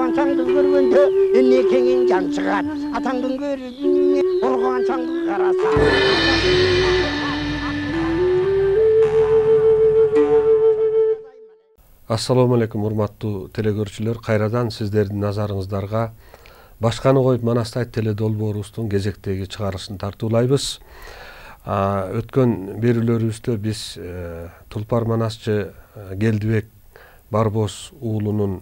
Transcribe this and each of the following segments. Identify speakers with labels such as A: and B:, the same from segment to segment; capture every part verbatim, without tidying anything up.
A: Коргончаңды көргөндө эмне кеңиң жан чыгат. Атаңдын көрүнү коргончаңды караса.
B: Ассаламу алейкум, урматтуу телекөрүүчүлөр. Кайрадан сиздердин назарыңыздарга Башканы коюп Манастай теле долбоорубуздун кезектеги чыгарылышын тартуулайбыз. Өткөн берүүлөрүбүздө биз Тулпар Манасчы Келдибек Барбос уулунун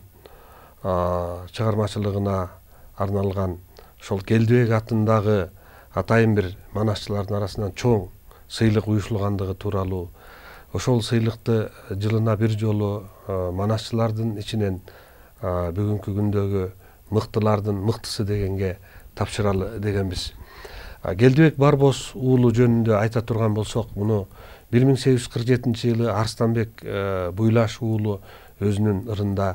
B: чыгармачылыгына арналган ошол Келдибек атындагы атайын бир манасчылардын арасынан чоң сыйлык уюшулгандыгы тууралуу, ошол сыйлыкты жылына бир жолу манасчылардын ичинен бүгүнкү күндөгү мыктылардын мыктысы дегенге тапшыралы дегенбиз. Келдибек Барбос уулу жөнүндө айта турган болсок, муну бир миң сегиз жүз кырк жетинчи жылы Арстанбек Буйлаш уулу өзүнүн ырында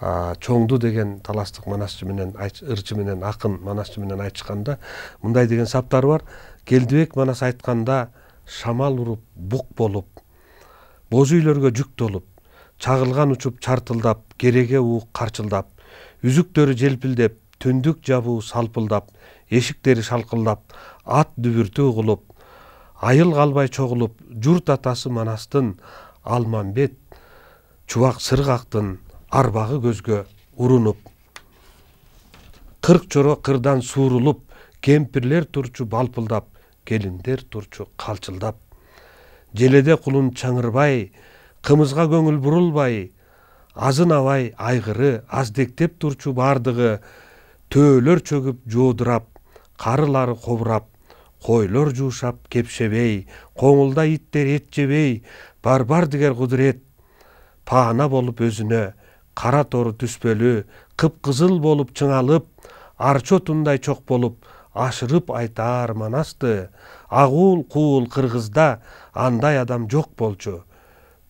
B: Чоңду деген таластык манасчы менен, ырчы менен, акын манасчы менен айтышканда мындай деген саптар бар. Келдибек манас айтканда шамал уруп, бук болуп, боз үйлөргө жүк толуп, чагылган учуп чартылдап, кереге уук карчылдап, үзүктөрү желпилдеп, түндүк жабуу салпылдап, эшиктери шалкылдап, ат дүбүртүү кылып, айыл калбай чогулуп, журт атасы Манастын Алмамбет чубак сыргактын арбагы көзгө урунуп, кырк чоро кырдан суурулуп, кемпирлер турчу балпылдап, келиндер турчу калчылдап, желеде кулун чаңырбай, кымызга көңүл бурулбай, азынабай айгыры аздектеп турчу бардыгы, төөлөр чөгүп жоодурап, карылары кобурап, койлор жуушап кепшебей, коңулда иттер эт жебей, бар-бар дигер кудурет, паана болуп өзүнө, кара тору түспөлү, кыпкызыл болуп чыңалып, арчотундай чок болуп, ашырып айтаар Манасты, агуул куул кыргызда андай адам жок болчу.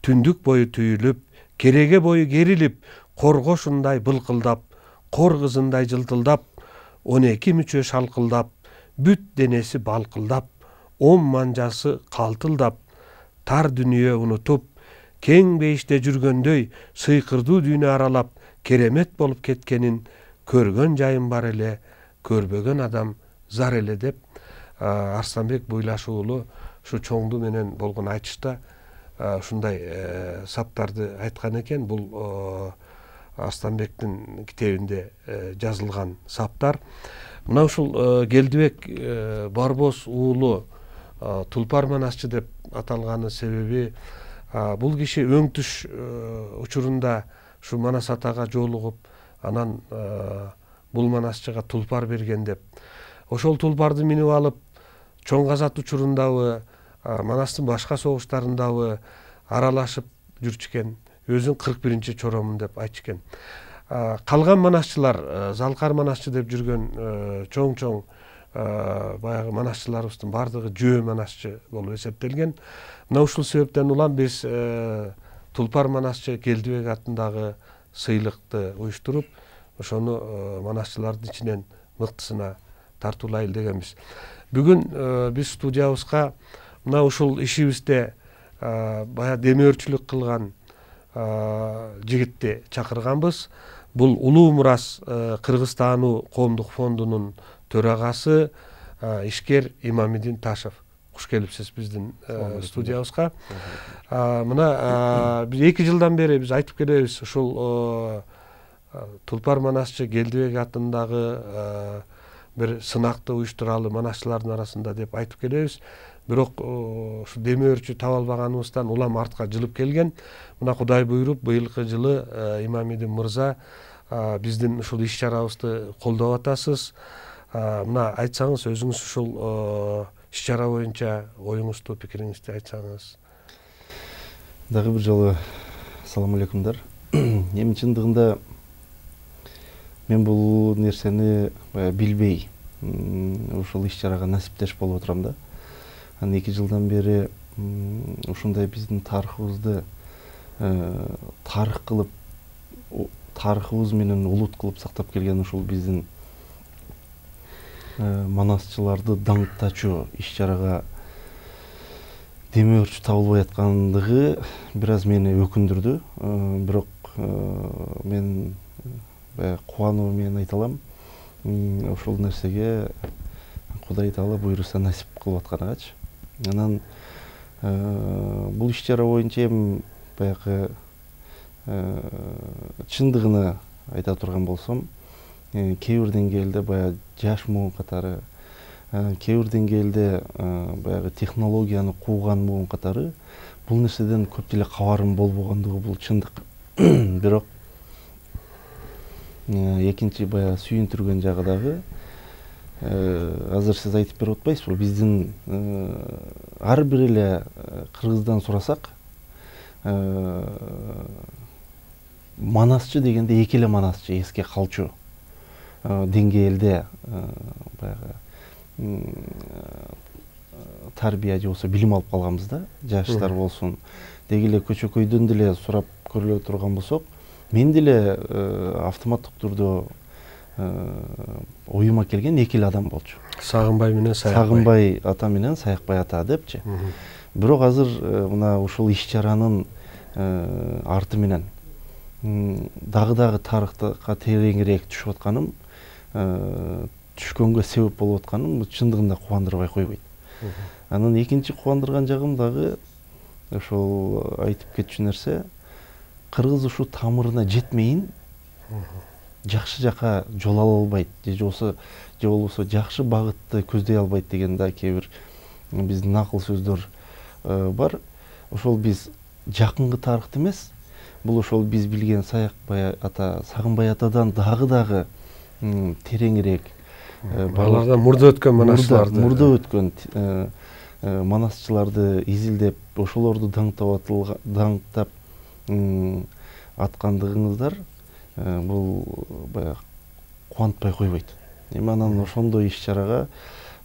B: Түндүк бою түйүлүп, кереге бою керилип, коргошундай былкылдап, кор кызындай жылтылдап, он эки мүчө шалкылдап, бүт денеси балкылдап, он манжасы калтылдап, тар дүнүйө унутуп, кең бейиште жүргөндөй сыйкырдуу дүйнө аралап, керемет болуп кеткенин көргөн жайым бар эле, көрбөгөн адам зар эле деп Арстанбек Буйлаш уулу ушу Чоңду менен болгон айтышта ушундай саптарды айткан экен. Бул Арстанбектин китебинде жазылган саптар. Мына ушул Келдибек Барбос уулу Тулпар Манасчы деп аталганы себеби, бул киши өңтүш учурунда ушу Манас атага жолугуп, анан бул манасчыга тулпар берген деп. Ошол тулпарды минип алып, Чоң Казат учурундабы, Манастын башка согуштарындабы аралашып жүрчүкен. Өзүн кырк биринчи чоромун деп айтышкен. Калган манасчылар, Залкар манасчы деп жүргөн чоң-чоң баягы манасчыларыбыздын бардыгы жөө манасчы болуп эсептелген. Мына ушул себептен улам биз Тулпар Манасчы Келдибек атындагы сыйлыкты уюштуруп, ошону манасчылардын ичинен мыктысына тартуулайлы дегенбиз. Бүгүн биз студиябызга мына ушул ишибизде бая демөөрчүлүк кылган жигитти чакырганбыз. Бул Улуу Мурас Кыргызстануу коомдук фондунун төрагасы ишкер Имамидин Ташев. Куш келипсиз биздин студиябызга. Мына биз эки жылдан бери биз айтып келебиз, ушул Тулпар Манасчы Келдибек атындагы бир сынакты уюштуралы манасчылардын арасында деп айтып келебиз. Бирок ушу демөөрчү таба албаганыбыздан улам артка жылып келген. Мына Кудай буйруп, быйылкы жылы Имамидин мырза биздин ушул иш-чарабызды колдоп атасыз. Мына айтсаңыз, өзүңүз ушул иш-чара боюнча оюңузду, пикириңизди айтсаңыз.
C: Дагы бир жолу салам алейкумдар. Эми чындыгында мен бул нерсени билбей ушул иш-чарага насиптеш болуп отурам да. Анан эки жылдан бери ушундай биздин тарыхыбызды тарых кылып, тарыхыбыз менен улут кылып сактап келген ушул биздин манасчыларды даңктачу иш-чарага демөөрчү табылбай аткандыгы бир аз мени өкүндүрдү. Бирок мен баягы кубануу менен айта алам, ошол нерсеге Кудай Таала буйруса насип кылып атканагачы. Анан бул иш чара боюнча эми баягы чындыгына айта турган болсом, кээ бир деңгээлде баягы жаш муун катары, кээ бир деңгээлде баягы технологияны кууган муун катары бул нерседен көп деле кабарым болбогондугу бул чындык. Бирок экинчи баягы сүйүндүргөн жагы дагы, азыр сиз айтып берип атпайсызбы, биздин ар бир эле кыргыздан сурасак, манасчы дегенде эки эле манасчы эске калчу деңгээлде баягы тарбия же болбосо билим алып калганбыз да, жаштар болсун. Деги эле көчөкөйдөн деле сурап көрүлө турган болсок, мен деле автоматтык түрдө оюма келген эки эле адам болчу.
B: Сагынбай менен Саякбай.
C: Сагынбай ата менен Саякбай ата депчи. Бирок азыр мына ушул иш чаранын арты менен дагы-дагы тарыхка тереңирээк түшүп атканым, түшкөнгө себеп болуп атканым чындыгында кубандырбай койбойт. Анан экинчи кубандырган жагым дагы ошол айтып кетчү нерсе, кыргыз ушу тамырына жетмейин жакшы жака жол ала албайт, же болбосо же болбосо жакшы багытты көздөй албайт деген да кээ бир биздин накыл сөздөр бар. Ошол биз жакынкы тарыхты эмес, бул ошол биз билген Саякбай ата, Сагынбай атадан дагы-дагы тереңирээк,
B: алардан мурда өткөн манасчыларды,
C: мурда өткөн манасчыларды изилдеп, ошолорду даңктап аткандыгыңыздар бул баягы кубантпай койбойт. Эми анан ошондой иш чарага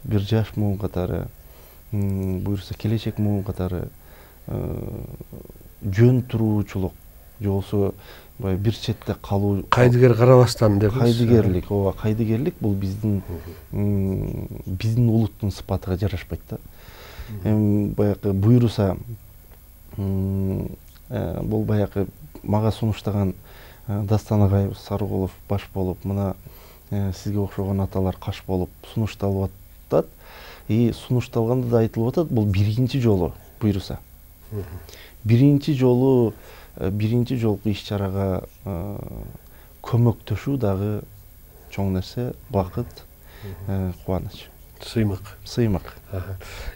C: бир жаш муун катары, буюрса келечек муун катары жөн туруучулук, же болбосо бир четте калуу,
B: кайдыгер карабастан деп.
C: Кайдыгерлик, ооба, кайдыгерлик бул биздин биздин улуттун сыпатыга жарашпайт да. Эми баягы буйруса бул баягы мага сунуштаган Дастан Агаев Сарыгулов баш болуп, мына сизге окшогон аталар каш болуп сунушталып атат. И сунушталганда да айтылып атат, бул биринчи жолу буйруса. Биринчи жолу биринчи жолку иш чарага көмөктөшүү дагы чоң нерсе, бакыт, кубаныч.
B: Сыймык.
C: Сыймык.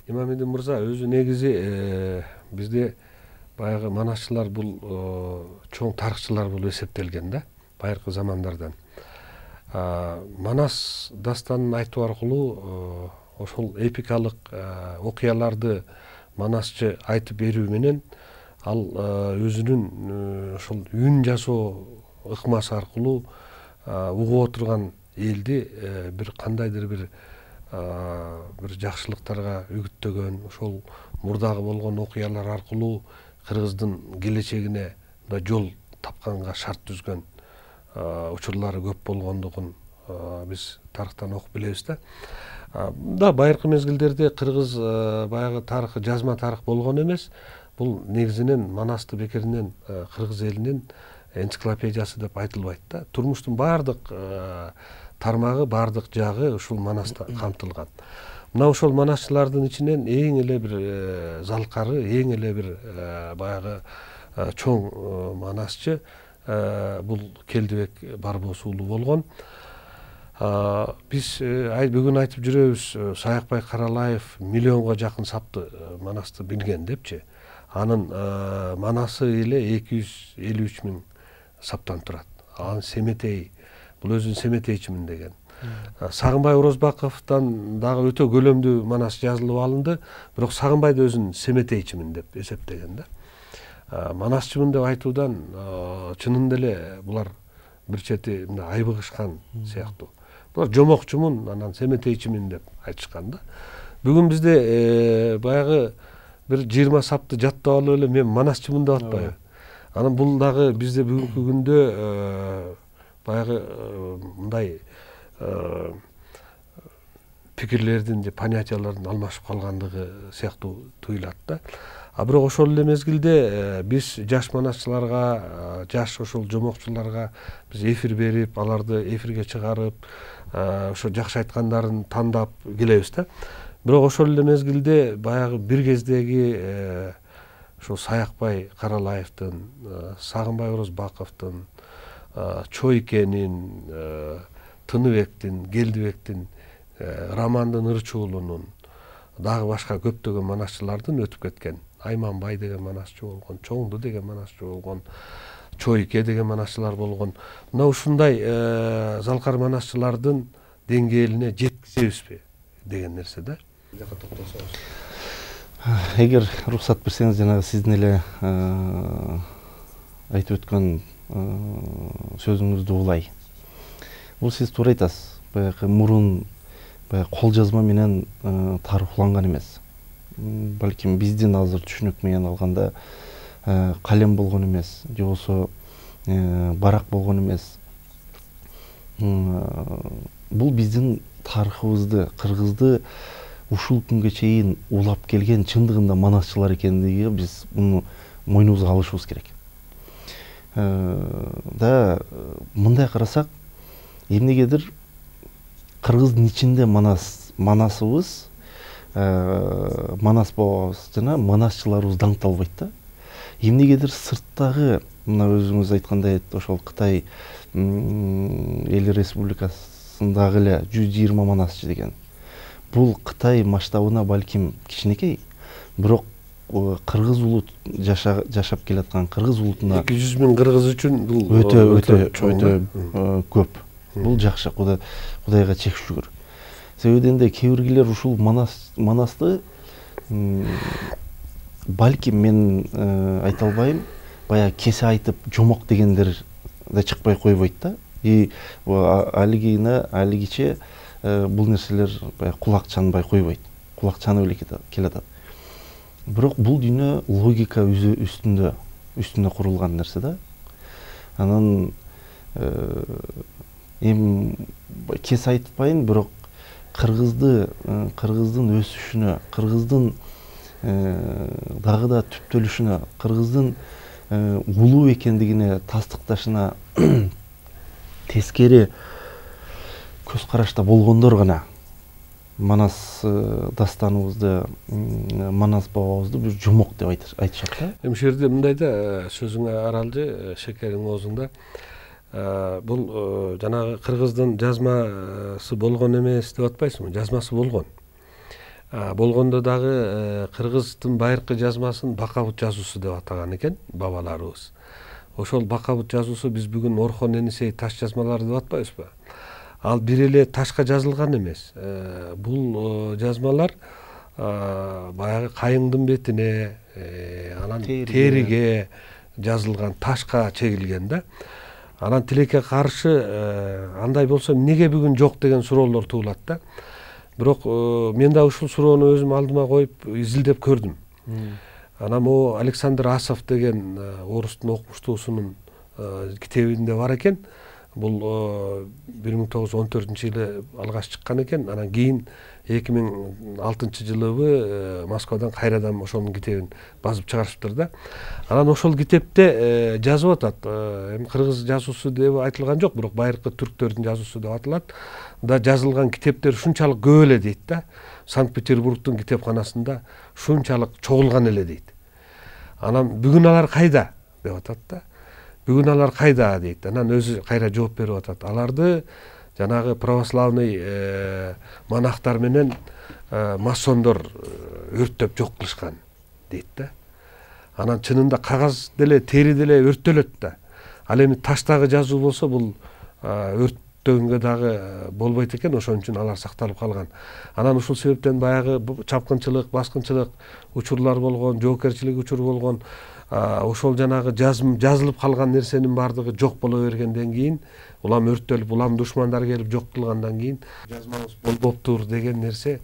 B: Имамидин мырза, өзү негизи бизде баягы манасчылар бул чоң тарыхчылар болуп эсептелген да, байыркы замандардан. Манас дастанын айтуу аркылуу ошол эпикалык окуяларды манасчы айтып берүү менен ал өзүнүн ошол үн жасоо ыкмасы аркылуу угуп отурган элди бир кандайдыр бир бир жакшылыктарга үгүттөгөн, ошол мурдагы болгон окуялар аркылуу кыргыздын келечегине да жол тапканга шарт түзгөн учурлары көп болгондугун биз тарыхтан окуп билебиз да. Да байыркы мезгилдерде кыргыз баягы тарыхы жазма тарых болгон эмес. Бул негизинен Манасты бекеринен кыргыз элинин энциклопедиясы деп айтылбайт да. Турмуштун баардык тармагы, баардык жагы ушул Манаста камтылган. Мына ошол манасчылардын ичинен эң эле бир залкары, эң эле бир баягы чоң манасчы бул Келдибек Барбос уулу болгон. Биз бүгүн айтып жүрөбүз, Саякбай Каралаев миллионго жакын сапты Манасты билген депчи. Анын манасы эле эки жүз элүү үч миң саптан турат. Анын Семетей, бул өзүн Семетейчимин деген. Сагынбай Орозбаковдон дагы өтө көлөмдүү манас жазылып алынды, бирок Сагынбай да өзүн Семетейчимин деп эсептеген да. Манасчымын деп айтуудан чынында эле булар бир чети айбыгышкан сыяктуу. Булар жомокчумун, анан Семетейчимин деп айтышкан да. Бүгүн бизде баягы бир жыйырма сапты жаттап алып эле мен манасчымын деп атпайбы. Анан бул дагы бизде бүгүнкү күндө баягы мындай пикирлердин же понятиялардын алмашып калгандыгы сыяктуу туюлат да. А бирок ошол эле мезгилде биз жаш манасчыларга, жаш ошол жомокчуларга биз эфир берип, аларды эфирге чыгарып, ошо жакшы айткандарын тандап келебиз да. Бирок ошол эле мезгилде баягы бир кездеги ошо Саякбай Каралаевдин, Сагынбай Орозбаковдун, Чойкенин, Тыныбектин, Келдибектин, Романдын Ырчуулунун, дагы башка көптөгөн манасчылардын өтүп кеткен. Айманбай деген манасчы болгон, Чоңду деген манасчы болгон, Чойке деген манасчылар болгон. Мына ушундай залкар манасчылардын деңгээлине жеткизебизби деген нерсе да.
C: Эгер уруксат берсеңиз, жанагы сиздин эле айтып өткөн сөзүңүздү улай. Бул сиз туура айтасыз. Баягы мурун кол жазма менен тарыхланган эмес. Балким биздин азыр түшүнүк менен алганда калем болгон эмес, же болбосо барак болгон эмес. Бул биздин тарыхыбызды, кыргызды ушул күнгө чейин улап келген чындыгында манасчылар экендиги биз муну мойнубузга алышыбыз керек. Да мындай карасак, эмнегедир кыргыздын ичинде манас манасыбыз, манас бабабыз жана манасчыларыбыз даңкталбайт да. Эмнегедир сырттагы, мына өзүңүз айткандай, ошол Кытай Эл Республикасындагы эле жүз жыйырма манасчы деген. Бул Кытай масштабына балким кичинекей, бирок кыргыз улут жашап келаткан кыргыз улутуна
B: эки жүз миң кыргыз үчүн бул
C: өтө өтө өтө көп. Бул жакшы, Кудайга чек шүгүр. Себебинен де кээ биргилер ушул манас манасты балким мен айта албайм, баягы кесе айтып жомок дегендер да чыкпай койбойт да. И алигине алигиче бул нерселер баягы кулак чанбай койбойт. Кулак чанып эле келатат. Бирок бул дүйнө логика үстүндө үстүндө курулган нерсе да. Анан эми кесе айтпайын, бирок кыргызды, кыргыздын өсүшүнө, кыргыздын дагы да түптөлүшүнө, кыргыздын улуу экендигине тастыкташына тескери көз карашта болгондор гана манас дастаныбызды, манас бабабызды бир жомок деп айтышат да.
B: Эми ушул жерде мындай да, сөзүңө аралжы, шекериң оозуңда. Бул жанагы кыргыздын жазмасы болгон эмес деп атпайсыңбы? Жазмасы болгон. Болгондо дагы кыргыздын байыркы жазмасын Бакабут жазуусу деп атаган экен бабаларыбыз. Ошол Бакабут жазуусу биз бүгүн Орхон Энисей таш жазмалары деп атпайбызбы? Ал бир эле ташка жазылган эмес. Бул жазмалар баягы кайыңдын бетине, анан териге жазылган, ташка чегилген да. Анан тилекке каршы андай болсо эмнеге бүгүн жок деген суроолор туулат да. Бирок мен да ушул суроону өзүм алдыма коюп изилдеп көрдүм. Анан могу Александр Асов деген орустун окумуштуусунун китебинде бар экен. Бул бир миң тогуз жүз он төртүнчү жылы алгаш чыккан экен. Анан кийин эки миң алтынчы жылы Москвадан кайрадан ошонун китебин базып чыгарышыптыр да. Анан ошол китепте жазып атат. Эми кыргыз жазуусу деп айтылган жок, бирок байыркы түрктөрдүн жазуусу деп атылат. Да жазылган китептер ушунчалык көп эле дейт да. Санкт-Петербургдун китепканасында ушунчалык чогулган эле дейт. Анан бүгүн алар кайда деп атат да. Бүгүн алар кайда дейт. Анан өзү кайра жооп берип атат. Аларды жанагы православный монахтар менен масондор өрттөп жок кылышкан дейт да. Анан чынында кагаз деле, тери деле өрттөлөт да. Ал эми таштагы жазуу болсо бул өрттөгөнгө дагы болбойт экен, ошон үчүн алар сакталып калган. Анан ушул себептен баягы чапкынчылык, баскынчылык учурлар болгон, жоокерчилик учуру болгон, ошол жанагы жазылып калган нерсенин баардыгы жок боло бергенден кийин, улам өрттөлүп, улам душмандар келип жок кылгандан кийин жазмабыз болбоптур деген нерсе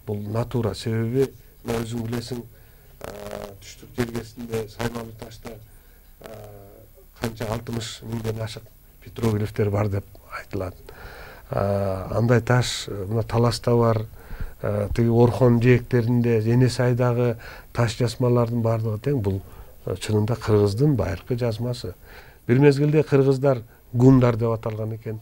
B: бул натура. Себеби өзүң билесиң, түштүк жергесинде Саймалы ташта канча алтымыш миңден ашык петроглифтер бар деп айтылат. Андай таш мына Таласта бар, тиги Орхон жээктеринде Эне Сайдагы таш жазмалардын баардыгы тең. Бул чынында кыргыздын байыркы жазмасы. Бир мезгилде кыргыздар гундар деп аталган экен,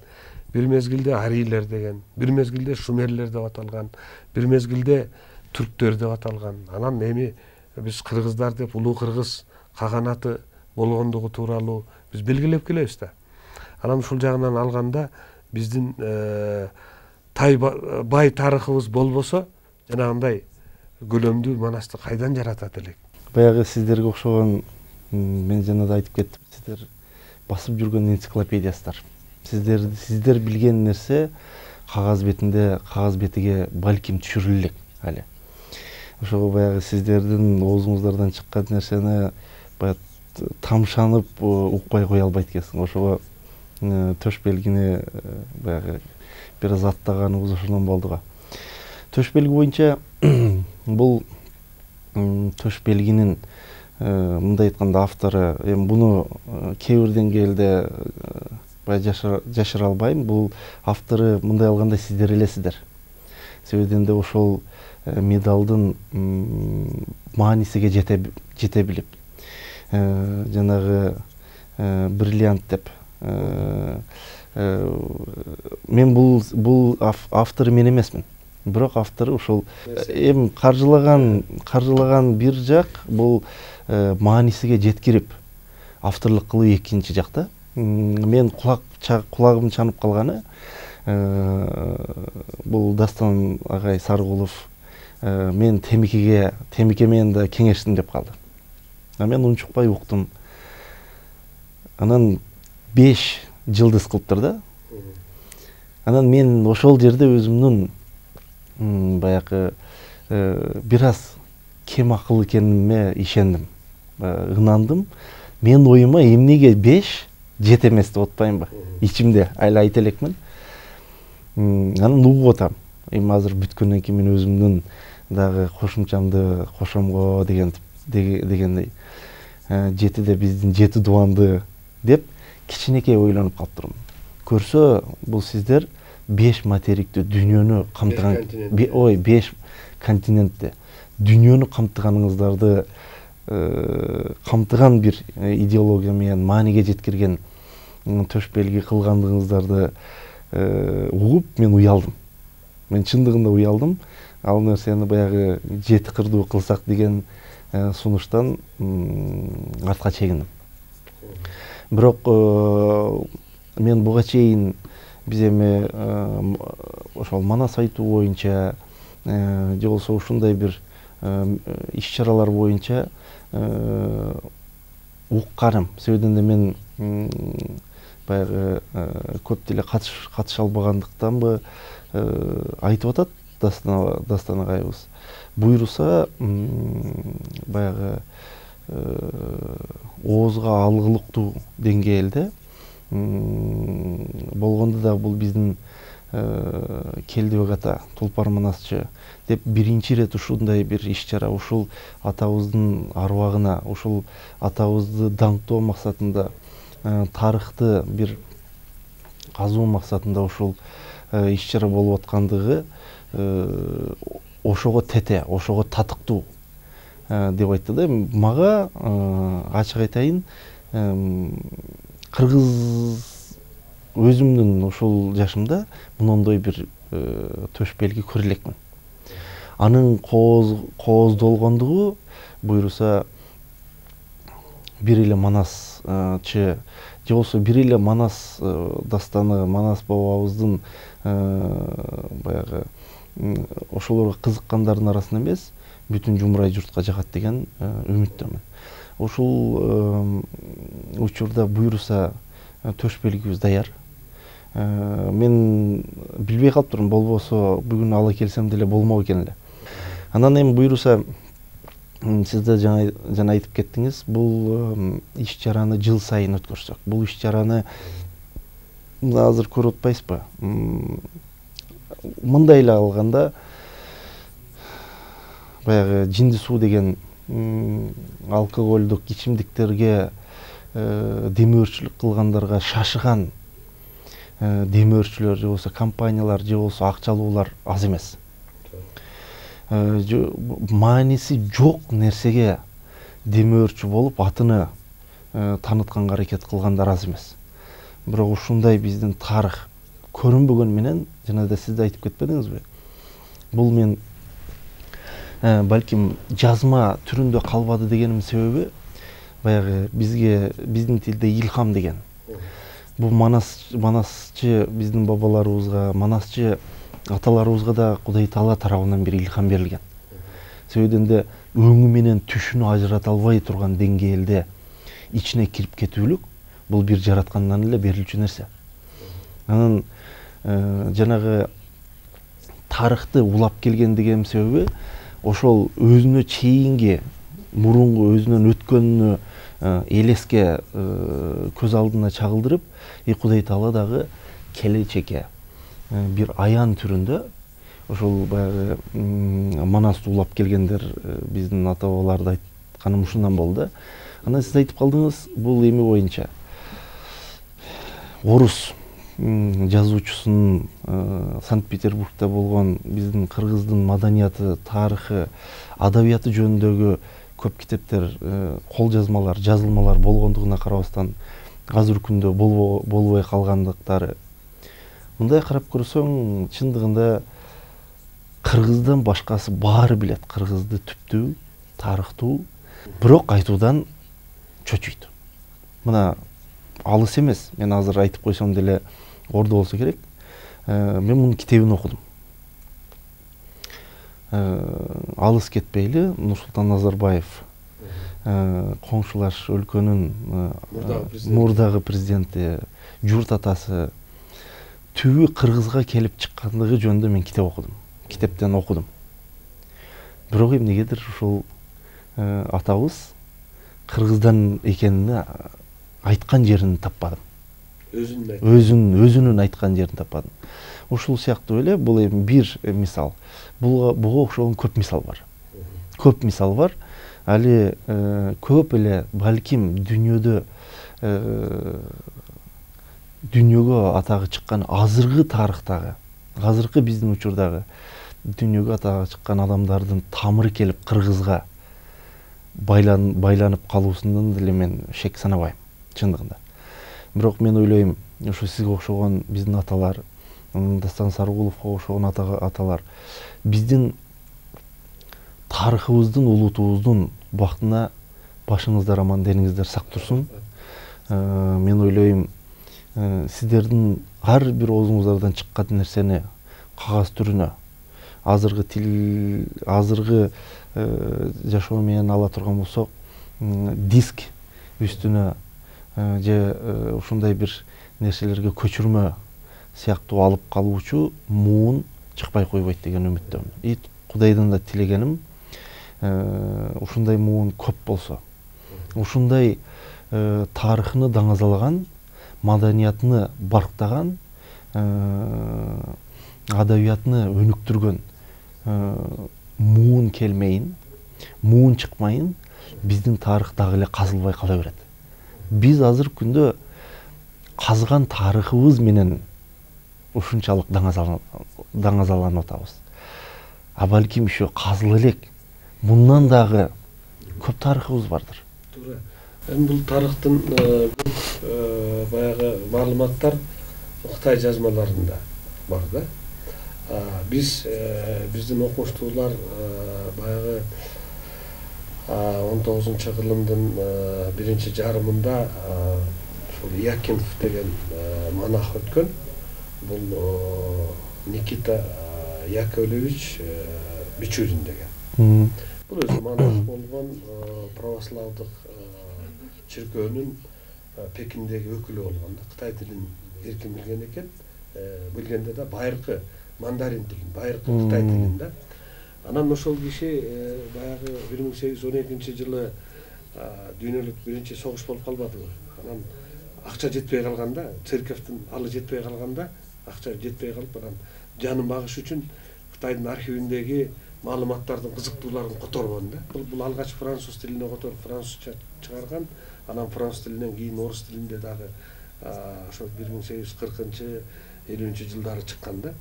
B: бир мезгилде арийлер деген, бир мезгилде шумерлер деп аталган, бир мезгилде түрктөр деп аталган. Анан эми биз кыргыздар деп улуу кыргыз каганаты болгондугу тууралуу биз белгилеп келебиз да. Анан ушул жагынан алганда биздин тай бай тарыхыбыз болбосо, жанагындай көлөмдүү манасты кайдан жаратат элек?
C: Баягы сиздерге окшогон, мен жана да айтып кеттим, сиздер басып жүргөн энциклопедиясыздар. Сиздер сиздер билген нерсе кагаз бетинде, кагаз бетиге балким түшүрүлө элек али. Ошого баягы сиздердин оозуңуздардан чыккан нерсени баягы тамшанып укпай кое албайт экенсиң. Ошого төш белгини баягы бир аз аттаганыбыз ошондон болду го. Төш белги боюнча бул төш белгинин мындай айтканда автору, эми буну кээ бир деңгээлде баягы жашыра албайм. Бул автору мындай алганда сиздер элесиздер. Себебинде ошол медалдын маанисиге жете билип, жанагы бриллиант деп, мен бул бул автору мен эмесмин. Бирок автору ушул эми каржылаган каржылаган бир жак, бул маанисиге жеткирип авторлук кылуу экинчи жакта. Мен кулак кулагым чанып калганы бул Дастан агай Сарыгулов мен темикеге темике менен да кеңештим деп калды. А мен унчукпай уктум. Анан беш жылдыз кылыптыр да. Анан мен ошол жерде өзүмдүн баягы бир аз кем акыл экениме ишендим, ынандым. Мен оюма эмнеге беш жете эмес деп атпаймынбы? Ичимде айла айта элекмин. Анан угуп атам. Эми азыр бүткөндөн кийин мен өзүмдүн дагы кошумчамды кошомго деген дегендей жетиде биздин жети дубанды деп кичинекей ойлонуп калыптырмын. Көрсө бул сиздер беш материктүү дүйнөнү камтыган, ой, беш континентти дүйнөнү камтыганыңыздарды камтыган бир идеология менен мааниге жеткирген төш белги кылгандыгыңыздарды угуп мен уялдым. Мен чындыгында уялдым. Ал нерсени баягы жети кырдуу кылсак деген сунуштан артка чегиндим. Бирок мен буга чейин биз эми ошол Манас айтуу боюнча же болбосо ушундай бир иш-чаралар боюнча укканым. Себебинде мен баягы көп деле катыша албагандыктанбы айтып атат Дастан агайыбыз. Буйруса баягы оозго алгылыктуу деңгээлде болгондо да бул биздин Келдибек ата Тулпар Манасчы деп биринчи ирет ушундай бир иш-чара, ушул атабыздын арбагына, ушул атабызды даңктоо максатында, тарыхты бир казуу максатында ушул иш-чара болуп аткандыгы ошого тете, ошого татыктуу деп айтты да. Мага ачык айтайын, кыргыз өзүмдүн ушул жашымда мындай бир төш белги көрө элекмин. Анын кооздолгондугу буйруса бир эле Манасчы же болбосо бир эле Манас дастаны, Манас бабабыздын баягы ошолорго кызыккандардын арасында эмес, бүтүн жумурай журтка жагат деген үмүттөмүн. Ушул учурда буйруса төш белгибиз даяр. Мен билбей калыптырмын, болбосо бүгүн ала келсем деле болмок экен эле. Анан эми буйруса сиздер жана жана айтып кеттиңиз, бул иш-чараны жыл сайын өткөрсөк, бул иш-чараны азыр көрүп атпайсызбы? Мындай эле алганда баягы жинди суу деген алкоголдук ичимдиктерге демөөрчүлүк кылгандарга шашыган демөөрчүлөр же болбосо компаниялар же болбосо акчалуулар аз эмес. мааниси жок нерсеге демөөрчү болуп атыны таанытканга аракет кылгандар аз эмес. Бирок ушундай биздин тарых көрүнбөгөн менен, жана да сиз да айтып кетпедиңизби? Бул мен балким жазма түрүндө калбады дегеним себеби баягы бизге биздин тилде илхам деген. Бул манас манасчы биздин бабаларыбызга, манасчы аталарыбызга да Кудай Таала тарабынан бир илхам берилген. Себебинен де өңү менен түшүнү ажырата албай турган деңгээлде ичине кирип кетүүлүк бул бир жараткандан эле берилчү нерсе. Анан жанагы тарыхты улап келген деген себеби ошол өзүнө чейинги мурунку өзүнөн өткөнүнө элеске көз алдына чагылдырып, и Кудай Таала дагы келечекке бир аян түрүндө ошол баягы манасты улап келгендер биздин ата бабаларды айтканым ушундан болду да. Анан сиз айтып калдыңыз, бул эми боюнча орус жазуучусунун Санкт-Петербургда болгон биздин кыргыздын маданияты, тарыхы, адабияты жөнүндөгү көп китептер, кол жазмалар, жазылмалар болгондугуна карабастан азыр күндө болбой калгандыктары. Мындай карап көрсөң, чындыгында кыргыздан башкасы баары билет кыргызды түптүү, тарыхтуу, бирок айтуудан чочуйт. Мына алыс эмес, мен азыр айтып койсом деле ордо болсо керек. Мен мунун китебин окудум. Алыс кетпейли, Нурсултан Назарбаев, коңшулаш өлкөнүн мурдагы президенти, журт атасы түбү кыргызга келип чыккандыгы жөнүндө мен китеп окудум. Китептен окудум. Бирок эмнегедир ушул атабыз кыргыздан экенине айткан жерин таппадым. Өзүнүн өзүнүн айткан жерин таппадым. Ушул сыяктуу эле бул эми бир мисал. Буга буга окшогон көп мисал бар. Көп мисал бар. Али көп эле балким дүйнөдө дүйнөгө атагы чыккан азыркы тарыхтагы, азыркы биздин учурдагы дүйнөгө атагы чыккан адамдардын тамыры келип кыргызга байлан байланып калуусунан деле мен шек санабайм, чындыгында. Бирок мен ойлойм, ушу сизге окшогон биздин аталар, Дастан Сарыгуловго окшогон аталар биздин тарыхыбыздын, улутубуздун бактына башыңыздар аман, дениңиздер сак турсун. Мен ойлойм, сиздердин ар бир оозуңуздардан чыккан нерсени кагаз түрүнө, азыркы тил, азыркы жашоо менен ала турган болсок, диск үстүнө же ушундай бир нерселерге көчүрмө сыяктуу алып калуучу муун чыкпай койбойт деген үмүттөмүн. И Кудайдан да тилегеним, ушундай муун көп болсо, ушундай тарыхыны даңазалаган, маданиятыны барктаган, адабиятыны өнүктүргөн муун келмейин, муун чыкмайын, биздин тарых дагы эле казылбай кала берет. Биз азыр күндө казган тарыхыбыз менен ушунчалык даңазаланып атабыз. А балким еще казыла элек, мындан дагы көп тарыхыбыз бардыр.
B: Туура. Эми бул тарыхтын көп баягы маалыматтар Кытай жазмаларында бар да. Биз биздин окумуштуулар баягы он тогузунчу кылымдын биринчи жарымында ушул Якинов деген монах өткөн. Бул Никита Яковлевич Бичурин деген. Бул өзү монах болгон, православдык чиркөөнүн Пекиндеги өкүлү болгон да. Кытай тилин эркин билген экен. Билгенде да байыркы мандарин тилин, байыркы Кытай тилин да. Анан ошол киши баягы бир миң сегиз жүз он экинчи жылы дүйнөлүк биринчи согуш болуп калбадыбы? Анан акча жетпей калганда, церковдун алы жетпей калганда, акча жетпей калып, анан жанын багыш үчүн Кытайдын архивиндеги маалыматтардын кызыктууларын которгон да. Бул алгач француз тилине которуп французча чыгарган, анан француз тилинен кийин орус тилинде дагы ошол бир миң сегиз жүз кыркынчы элүүнчү жылдары чыккан да.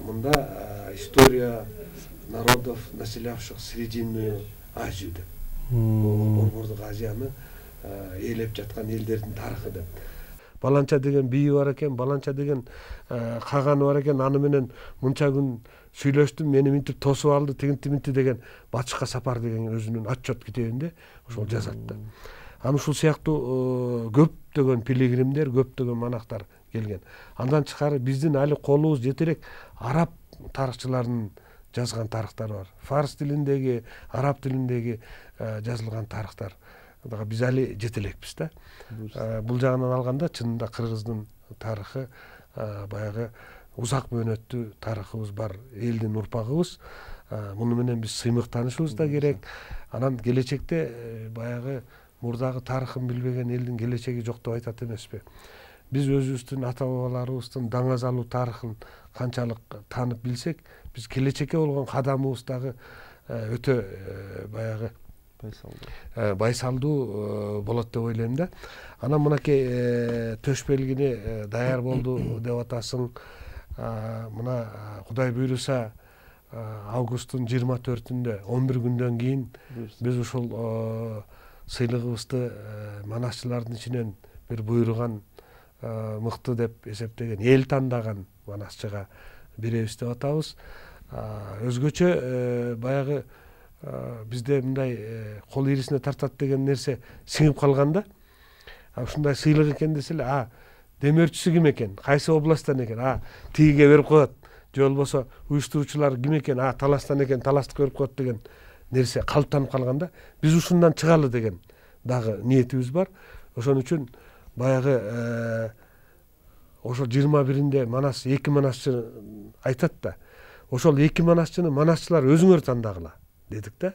B: мында история народов, населявших Срединную Азию деп. Борбордук Азияны ээлеп жаткан элдердин тарыхы деп. Баланча деген бийи бар экен, баланча деген каганы бар экен, аны менен мынча күн сүйлөштүм, мени минтип тосуп алды, тигинти минти деген Батышка сапар деген өзүнүн отчет китебинде ошол жазат да. Аны ушул сыяктуу көптөгөн пилигримдер, көптөгөн монахтар келген. Андан тышкары биздин али колубуз жете элек араб тарыхчыларынын жазган тарыхтары бар. Фарс тилиндеги, араб тилиндеги жазылган тарыхтар. Биз али жете элекпиз да. Бул жагынан алганда чынында кыргыздын тарыхы баягы узак мөөнөттүү тарыхыбыз бар, элдин урпагыбыз. Муну менен биз сыймыктанышыбыз да керек. Анан келечекте баягы мурдагы тарыхын билбеген элдин келечеги жок деп айтат эмеспи? Биз өзүбүздүн ата бабаларыбыздын даңазалуу тарыхын канчалык таанып билсек, биз келечекке болгон кадамыбыз дагы өтө баягы байсалдуу болот деп ойлойм да. Анан мынакей төш белгини даяр болду деп атасың. Мына Кудай буйруса августтун жыйырма төртүндө он бир күндөн кийин биз ушул сыйлыгыбызды манасчылардын ичинен бир буйруган мыкты деп эсептеген, эл тандаган манасчыга беребиз деп атабыз. Өзгөчө баягы бизде мындай кол ирисине тартат деген нерсе сиңип калганда, ушундай сыйлык экен десе эле, а демөөрчүсү ким экен, кайсы областтан экен, а тигиге берип коет, же болбосо уюштуруучулар ким экен, а таластан экен, таластыкка берип коет деген нерсе калыптанып калганда, биз ушундан чыгалы деген дагы ниетибиз бар. Ошон үчүн баягы ошо жыйырма биринде манас эки манасчы айтат да. Ошол эки манасчыны манасчылар өзүңөр тандагыла дедик да.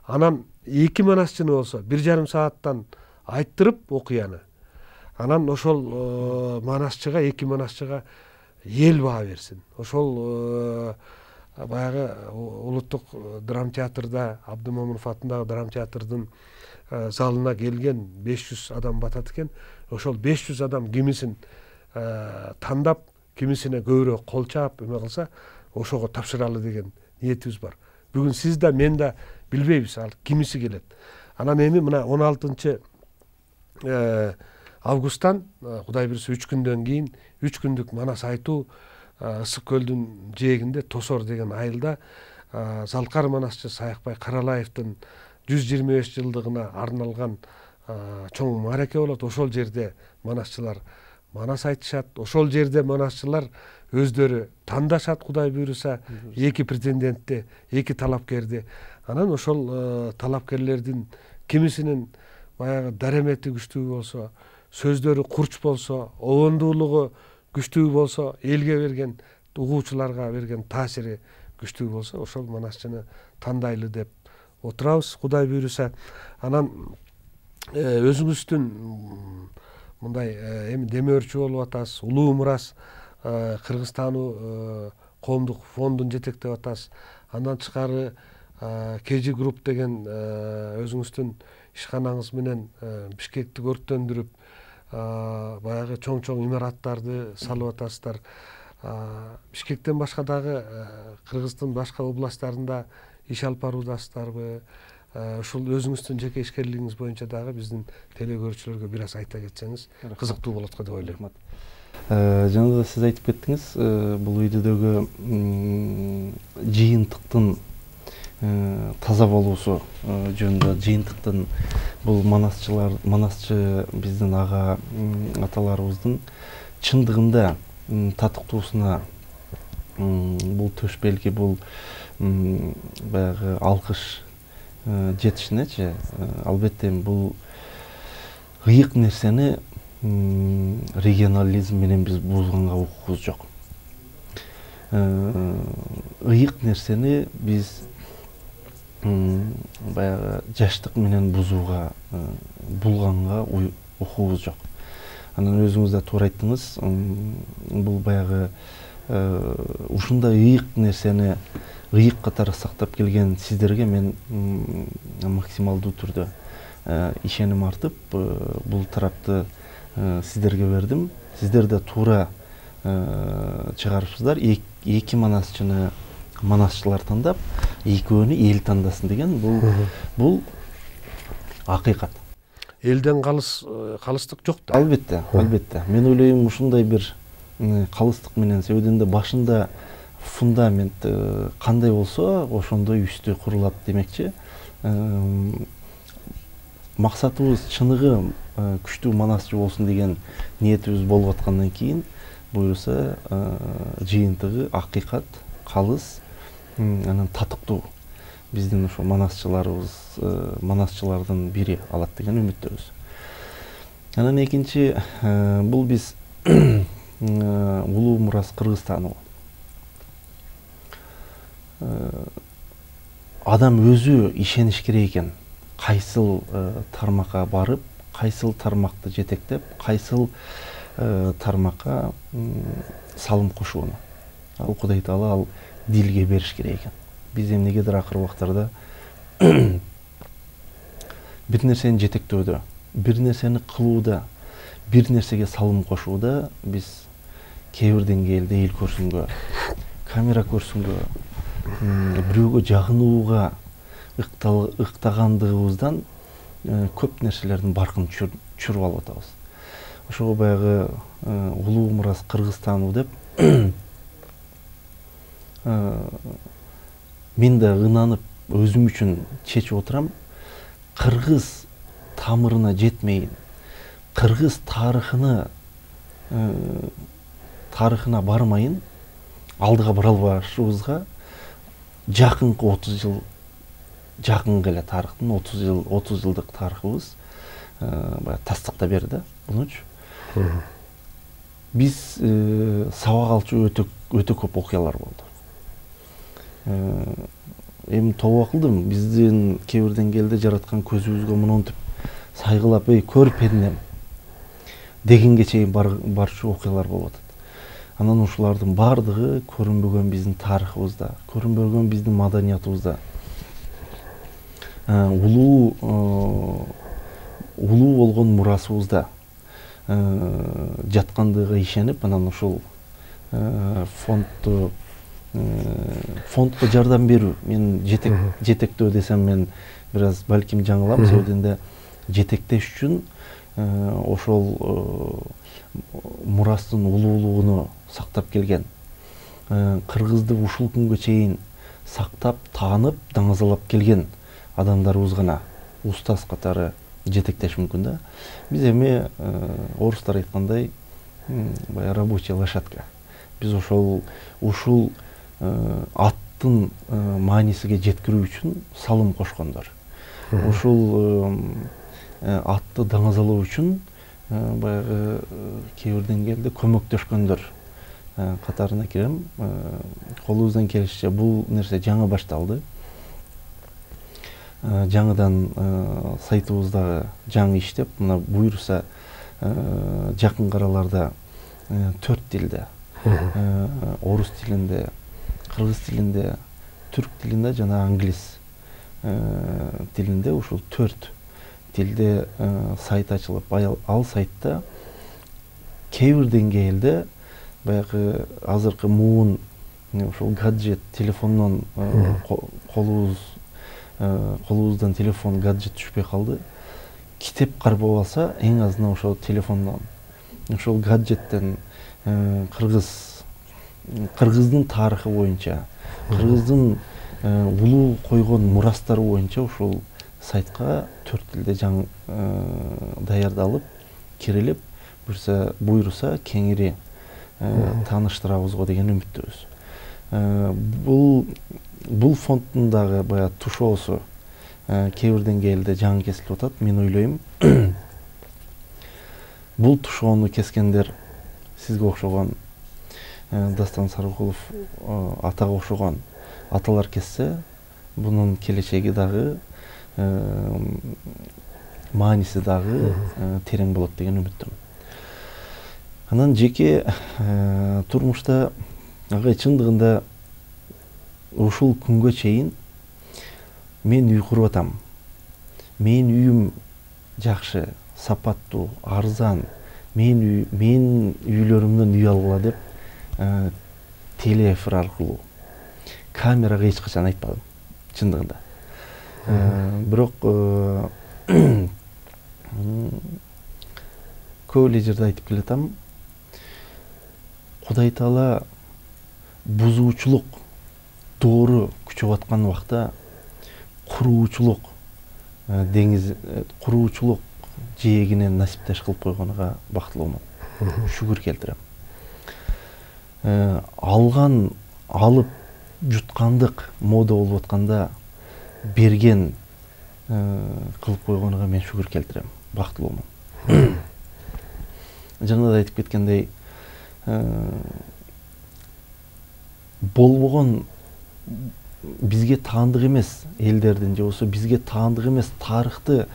B: Анан эки манасчыны болсо бир жарым сааттан айттырып окуяны. Анан ошол манасчыга, эки манасчыга эл баа берсин. Ошол баягы улуттук драма театрда, Абдымомунов атындагы драма театрдын залына келген беш жүз адам батат экен. Ошол беш жүз адам кимисин тандап, кимисине көбүрөөк кол чаап эме кылса, ошого тапшыралы деген ниетибиз бар. Бүгүн сиз да, мен да билбейбиз ал кимиси келет. Анан эми мына он алтынчы августтан Кудай буйруса үч күндөн кийин үч күндүк манас айтуу Ысык көлдүн жээгинде Тосор деген айылда Залкар манасчы Саякбай Каралаевдин жүз жыйырма беш жылдыгына арналган чоң маареке болот. Ошол жерде манасчылар манас айтышат. Ошол жерде манасчылар өздөрү тандашат, Кудай буйруса, эки претендентти, эки талапкерди. Анан ошол талапкерлердин кимисинин баягы даремети күчтүү болсо, сөздөрү курч болсо, обондуулугу күчтүү болсо, элге берген, угуучуларга берген таасири күчтүү болсо, ошол манасчыны тандайлы деп отурабыз, Кудай буйруса. Анан өзүңүздүн мындай эми демөөрчү болуп атасыз, улуу мурас Кыргызстануу коомдук фондун жетектеп атасыз. Андан тышкары Кежи групп деген өзүңүздүн ишканаңыз менен Бишкекти көрктөндүрүп, баягы чоң-чоң имараттарды салып атасыздар. Бишкектен башка дагы Кыргыздын башка областтарында иш алып баруудасыздарбы? Ушул өзүңүздүн жеке ишкерлигиңиз боюнча дагы биздин телекөрүүчүлөргө бир аз айта кетсеңиз кызыктуу болот го деп ойлойм.
C: Жана да сиз айтып кеттиңиз, бул үйдөгү жыйынтыктын таза болуусу жөнүндө. Жыйынтыктын бул манасчылар, манасчы биздин ага аталарыбыздын чындыгында татыктуусуна бул төш белги, бул баягы алкыш жетишинечи, албетте бул ыйык нерсени регионализм менен биз бузганга укугубуз жок. Ыйык нерсени биз баягы жаштык менен бузууга, булганга укугубуз жок. Анан өзүңүз да туура айттыңыз, бул баягы ушундай ыйык нерсени ыйык катары сактап келген сиздерге мен максималдуу түрдө ишеним артып, бул тарапты сиздерге бердим. Сиздер да туура чыгарыпсыздар. Эки манасчыны манасчылар тандап, экөөнү эл тандасын деген бул бул акыйкат.
B: Элден калыс калыстык жок да.
C: Албетте, албетте. Мен ойлойм ушундай бир калыстык менен себебинде башында фундамент кандай болсо, ошондой үстү курулат демекчи. Максатыбыз чыныгы күчтүү манасчы болсун деген ниетибиз болуп аткандан кийин буюрса жыйынтыгы акыйкат, калыс, анан татыктуу биздин ошо манасчыларыбыз, манасчылардын бири алат деген үмүттөбүз. Анан экинчи, бул биз улуу мурас Кыргызстан. Адам өзү ишениш керек экен. Кайсыл тармакка барып, кайсыл тармакты жетектеп, кайсыл тармакка салым кошууну. Ал Кудай Таала ал дилге бериш керек экен. Биз эмнегедир акыркы убактарда бир нерсени жетектөөдө, бир нерсени кылууда, бир нерсеге салым кошууда биз кээ бир деңгээлде эл көрсүнгө, камера көрсүнгө, бирөөгө жагынууга ыктагандыгыбыздан көп нерселердин баркын чүрүп алып атабыз. Ошого баягы улуу мурас Кыргызстану деп мен да ынанып өзүм үчүн чечип отурам. Кыргыз тамырына жетмейин, кыргыз тарыхына тарыхына бармайын, алдыга бара албашыбызга жакынкы отуз жыл, жакынкы эле тарыхтын отуз жыл, отуз жылдык тарыхыбыз баягы тастыктап берди да, мунучу. Биз сабак алчу өтө өтө көп окуялар болду. Эми тобо кылдым, биздин кээ бир деңгээлде жараткан көзүбүзгө монтип сайгылап, эй көр пендем дегенге чейин барчу окуялар болуп атат. Анан ушулардын баардыгы көрүнбөгөн биздин тарыхыбызда, көрүнбөгөн биздин маданиятыбызда, улуу улуу болгон мурасыбызда жаткандыгына ишенип, анан ушул фондду фондко жардам берүү, мен жетектөө десем мен бир аз балким жаңылам, себебинде жетектеш үчүн ошол мурастын улуулугуну сактап келген, кыргызды ушул күнгө чейин сактап, таанып, даңазалап келген адамдарыбыз гана устаз катары жетектеш мүмкүн да. Биз эми орустар айткандай, баягы рабочая лошадка. Биз ошол ушул аттын маанисиге жеткирүү үчүн салым кошкондор. Ушул атты даңазалоо үчүн баягы кээ бир деңгээлде көмөктөшкөндөр катарына кирем. Колубуздан келишинче бул нерсе жаңы башталды. Жаңыдан сайтыбыздагы жаңы иштеп, мына буюрса жакын араларда төрт тилде, орус тилинде, кыргыз тилинде, түрк тилинде жана англис тилинде, ушул төрт тилде сайт ачылып, ал сайтта кээ бир деңгээлде баягы азыркы муун ушул гаджет, телефондон колубуз колубуздан телефон, гаджет түшпөй калды. Китеп кармап алса, эң азынан ошол телефондон, ошол гаджеттен кыргыз кыргыздын тарыхы боюнча, кыргыздын улуу койгон мурастары боюнча ушул сайтка төрт тилде жаңы даярдалып, кирилип, буйруса кеңири тааныштырабыз го деген үмүттөбүз. Бул бул фонддун дагы баягы тушоосу кээ бир деңгээлде жаңы кесилип атат. Мен ойлойм, бул тушоону кескендер сизге окшогон, Дастан Сарыкулов атага окшогон аталар кессе, бунун келечеги дагы, мааниси дагы терең болот деген үмүттөмүн. Анан жеке турмушта агай чындыгында ушул күнгө чейин мен үй куруп атам. Менин үйүм жакшы, сапаттуу, арзан. Мен үй, менин үйлөрүмдөн үй алгыла деп телеэфир аркылуу, камерага эч качан айтпадым чындыгында. Бирок көп эле жерде айтып келатам. Кудай Таала бузуучулук доору күчөп аткан убакта куруучулук деңиз куруучулук жээгинен насиптеш кылып койгонуга бактылуумун. Шүгүр келтирем. Алган алып жуткандык мода болуп атканда берген кылып койгонуга мен шүгүр келтирем. Бактылуумун. Жана да айтып кеткендей, болбогон бизге таандык эмес элдердин же болбосо бизге таандык эмес тарыхты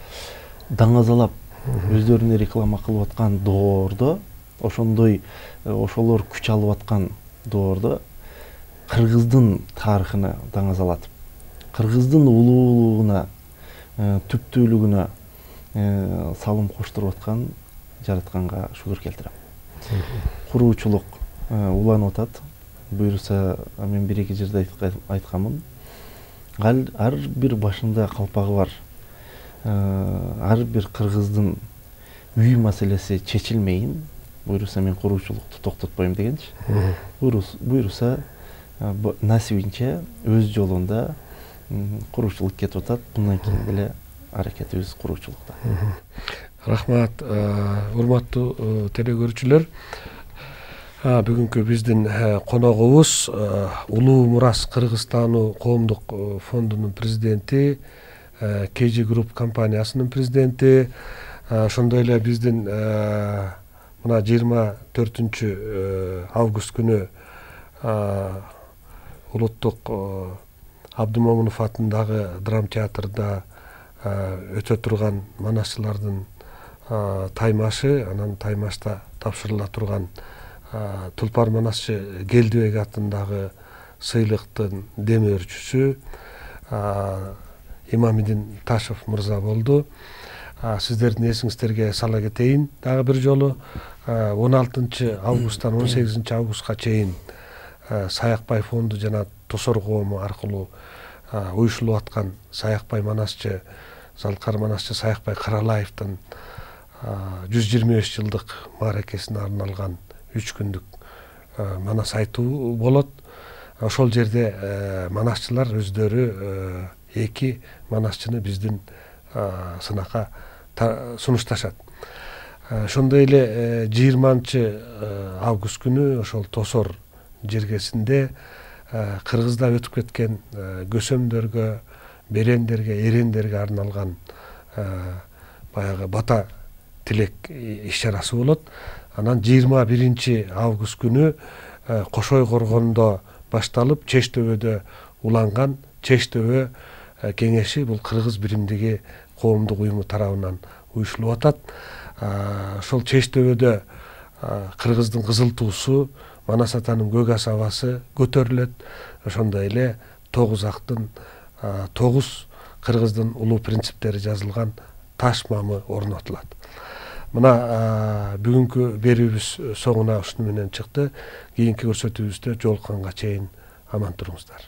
C: даңазалап өздөрүнө реклама кылып аткан доордо, ошондой ошолор күч алып аткан доордо кыргыздын тарыхына даңазалатып, кыргыздын улуулугуна, түптүүлүгүнө салым коштуруп аткан жаратканга шүгүр келтирем. Куруучулук уланып атат. Буюрса, мен бир-эки жерде айтканмын. Ар бир башында калпагы бар. Ар бир кыргыздын үй маселеси чечилмейин, буюрса мен куруучулукту токтотпойм дегенчи. Буюрса, насибинче өз жолунда куруучулук кетип атат. Мындан кийин деле аракетибиз куруучулукта.
B: Рахмат, урматтуу телекөрүүчүлөр. Бүгүнкү биздин коногубуз Улуу Мурас Кыргызстануу коомдук фондунун президенти, кей джи Group компаниясынын президенти, ошондой эле биздин мына жыйырма төртүнчү август күнү улуттук Абдымомунов атындагы драм театрда өтө турган манасчылардын таймашы, анан таймашта тапшырыла турган Тулпар манасчы Келдибек атындагы сыйлыктын демөөрчүсү Имамидин Ташев мырза болду. Сиздердин эсиңиздерге сала кетейин дагы бир жолу он алтынчы августтан он сегизинчи августка чейин Саякбай фонду жана Тосор коому аркылуу уюшулуп аткан Саякбай манасчы, Залкар манасчы Саякбай Каралаевдин жүз жыйырма беш жылдык мааракесине арналган үч күндүк манас айтуу болот. Ошол жерде манасчылар өздөрү эки манасчыны биздин сынакка сунушташат. Ошондой эле жыйырманчы август күнү ошол Тосор жергесинде Кыргызда өтүп кеткен көсөмдөргө, берендерге, эрендерге арналган баягы бата тилек иш-чарасы болот. Анан жыйырма биринчи август күнү Кошой коргондо башталып, Чештөбөдө уланган Чештөбө кеңеши бул Кыргыз биримдиги коомдук уюму тарабынан уюшулуп атат. Ошол Чештөбөдө Кыргыздын кызыл туусу, Манас атанын көк асабасы көтөрүлөт. Ошондой эле тогуз актын тогуз Кыргыздын улуу принциптери жазылган таш мамы орнотулат. Мына бүгүнкү берүүбүз соңуна ушуну менен чыкты. Кийинки көрсөтүүбүздө жолукканга чейин аман туруңуздар.